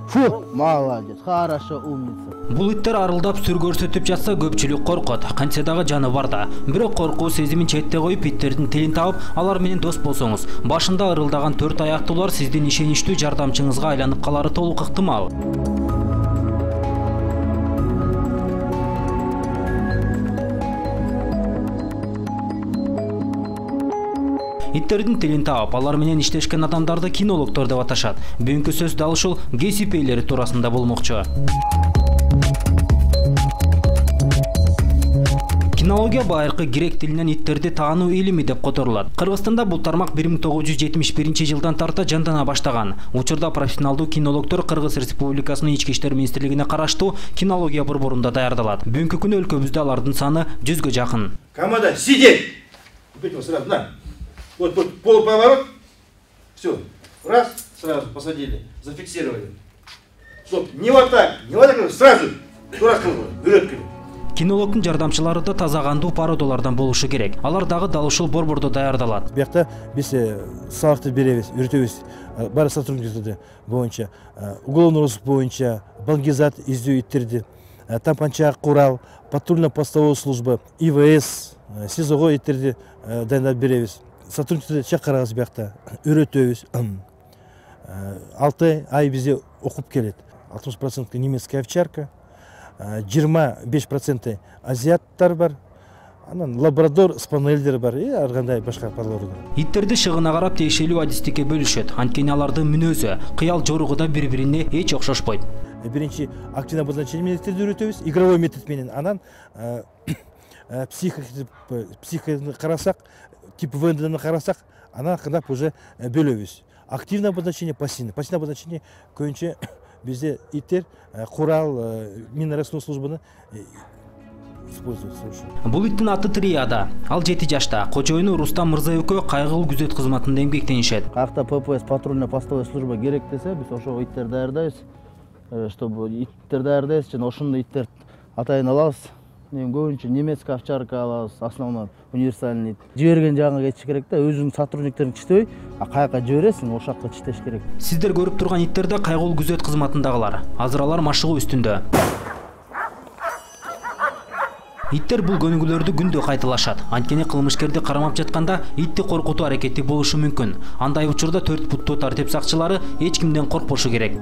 Фу, молодец, хорошо, умница. Бул иттер арылдап сүр көрсөтүп жатса көпчүлүк коркот. Кантсе дагы жаны бар да. Бирок коркуу сезимин четте коюп иттердин тилин табып, алар менен дос болсоңуз, башында ырылдаган 4 аяктуулар сиздин ишеничтүү жардамчыңызга айланып калары толук ыктымал. Иттердин тилин таап, алар менен иштешкен адамдарды кинологдор деп аташат. Бүгүнкү сөз дал ушул кесип ээлери туурасында болмокчу. Кинология байыркы грек тилинен иттерди таануу илими деп которулат. Кыргызстанда бул тармак 1971-жылдан тарта жандана баштаган. Учурда профессионалдуу кинологдор Кыргыз Республикасынын Ички иштер министрлигине караштуу кинология борборунда даярдалат. Бүгүнкү күнү өлкөбүздө алардын саны 100гө жакын. Команда сидеть! Сразу, на. Вот полуповорот. Все. Раз, сразу посадили. Зафиксировали. Стоп. Не вот так, сразу. Тура кылгы. Бүрөт кылгы. Кинологдун жардамчылары да таза кандуу породалардан болушу керек. Алар дагы дал ушул борбордо даярдалат. Биякта биз сабакты беребиз, үйрөтөбүз. Баары сотрудниктер боюнча, уголовный розыск боюнча, баңгизат издөө иттерди, тампанча, курал, патрульно-постовой служба, ИВС, СИЗОго иттерди дайындап беребиз. Сотрудниктерди чакырабыз биякта, үйрөтөбүз. 6 ай бизде окуп келет. 60% немецкая овчарка, 25% азиаттар бар. Анан лабрадор, спаниелдер бар, ар кандай башка парлар. Иттерди шыгына карап тиешелүү адистикке бөлүшөт. Анткени алардын мүнөзү, кыял жоругу да бири-бирине эч окшошпойт. Биринчи активный обозначение методдерди үйрөтөбүз, игровой метод менен. Анан психиканы карасак, тип ВНДны карасак, анан кандап уже бөлөбүз. Активное обозначение, пассивное. Пассивное обозначение көбүнчө бизде иттер курал, минно-расходный службаны используют. Бул иттин аты Триада. Ал 7 жашта. Кожоюну Рустам Мырза экөө кайгылуу күзөт кызматында эмгектенишет. Кайакта ППС патрульно-постовой служба керек десе, биз ошого иттер даярдайбыз. Чтобы иттер даярдайбыз, жана ошондой иттер атайын алабыз. Көбүнчө немецкая овчарка алабыз, основной универсальный ит. Жиберген жагыңа кетиш керек да, өзүң сотрудниктериң чиштебей, каяка жибересиң, ошол жакка чиштеш керек. Сиздер көрүп турган иттер да кайгылуу күзөт кызматындагылар. Азыр алар машыгуу үстүндө. Иттер бул көнүгүүлөрдү күндө кайталашат. Анткени кылмышкерди кармап жатканда итти коркутуу аракети болушу мүмкүн. Андай учурда 4 буттуу тартип сакчылары эч кимден коркпошу керек.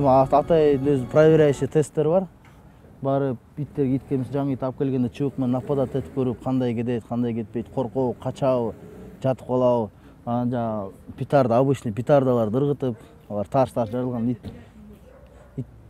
Атайын өзү проверяющий тесттер бар. Бары иттерге иткемис жаңы ит алып келгенде чыбык менен нападать этип көрүп, кандай кетет, кандай кетпейт, коркобу, качабы, жатып калабы. Анан жаңы петарда, обычный петардаларды ыргытып, алар тарс-тарс жарылган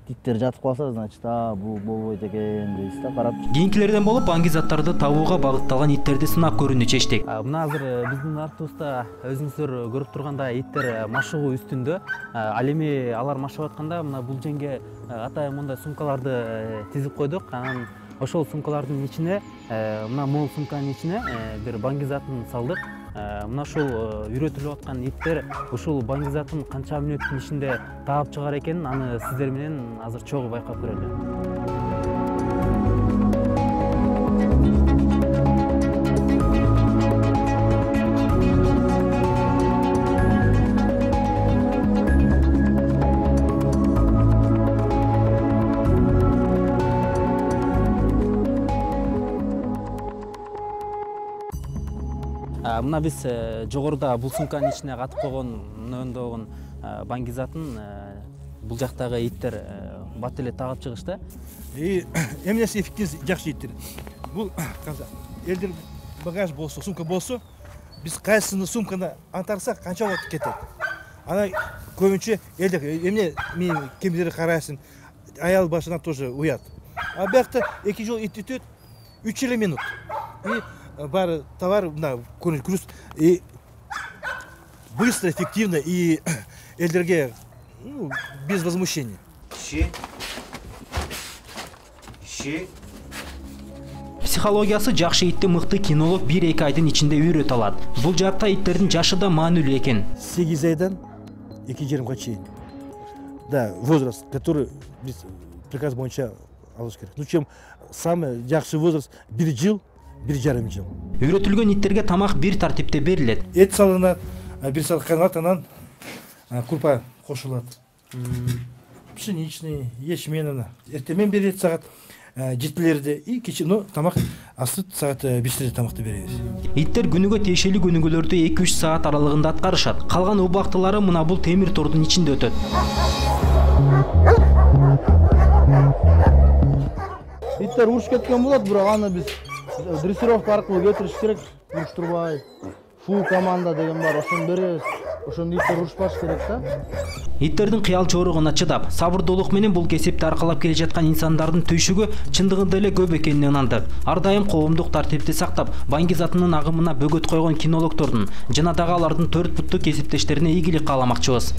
иттер жатып калса, значит, бул болбойт экен дейсиз да, карап. Кийинкилерден болуп баңгизаттарды табууга багытталган иттерди сынап көрүүнү чечтик. Мына азыр биздин артыбызда өзүңүздөр көрүп тургандай иттер машыгуу үстүндө. Ал эми алар машыгып атканда мына бул жерге атайын мындай сумкаларды тизип койдук. Анан ошол сумкалардын ичине, мына мол сумканын ичине бир баңгизатын салдык. Мына ушул үйрөтүлүп аткан иттер ушул баңгизатын канча мүнөттүн ичинде таап чыгар экенин аны сиздер менен азыр чогуу байкап көрөлү. Мына биз жогоруда бул сумканын ичине катып койгон мындай баңгизатын бул жактагы иттер бат эле тагып чыгышты. Эмнеси эффективность жакшы иттер. Бул элдер багаж болсо, сумка болсо, биз кайсыны сумканы антарсак канча убакыт кетет. Ана көбүнчө элдер эмне мен кемдери карайсың, аял башына тоже уят. А биякта 2 жол ит өтөт, 3 минут. И бар товар на груз и быстро, эффективно и элдерге без возмущения. Психологиясы жакшы итти мыкты кинолог 1-2 айдын ичинде үйрөтө алат. Бул жакта иттердин жашы да маанилүү экен. 8 айдан 2,5 чейин. Да, возраст, который приказ боюнча алыш керек. Ну чем самый жакшы возраст 1 жыл, 1,5 жыл. Үйрөтүлгөн иттерге тамак бир тартипте берилет. Эт салынат, 1 саат кайналат, анан курпа кошулат. Пшеничный, ячмень, эртемен берет саат 7-лерде и кечээ, но тамак асты саат 5-лерде тамакты беребиз. Иттер күнүгө тиешелүү күнүгөлөрдү 2-3 саат аралыгында аткарышат. Калган убактылары мына бул темир тордун ичинде өтөт. Иттер уруш кеткен болот, бирок аны биз дрессировка аркылуу кетириш керек, уруштурбай. Фу команда деген бар, ошону беребиз. Ошондо иттер урушпаш керек да. Иттердин кыял чоругуна чыдап, сабырдуулук менен бул кесипти аркалап келе жаткан инсандардын түйшүгү чындыгында эле көп экенине ынандык. Ар дайым коомдук тартипти сактап, Баңги затынын агымына бөгөт койгон кинологдордун жана дагы алардын 4 буттуу кесиптештерине ийгилик кааламакчыбыз.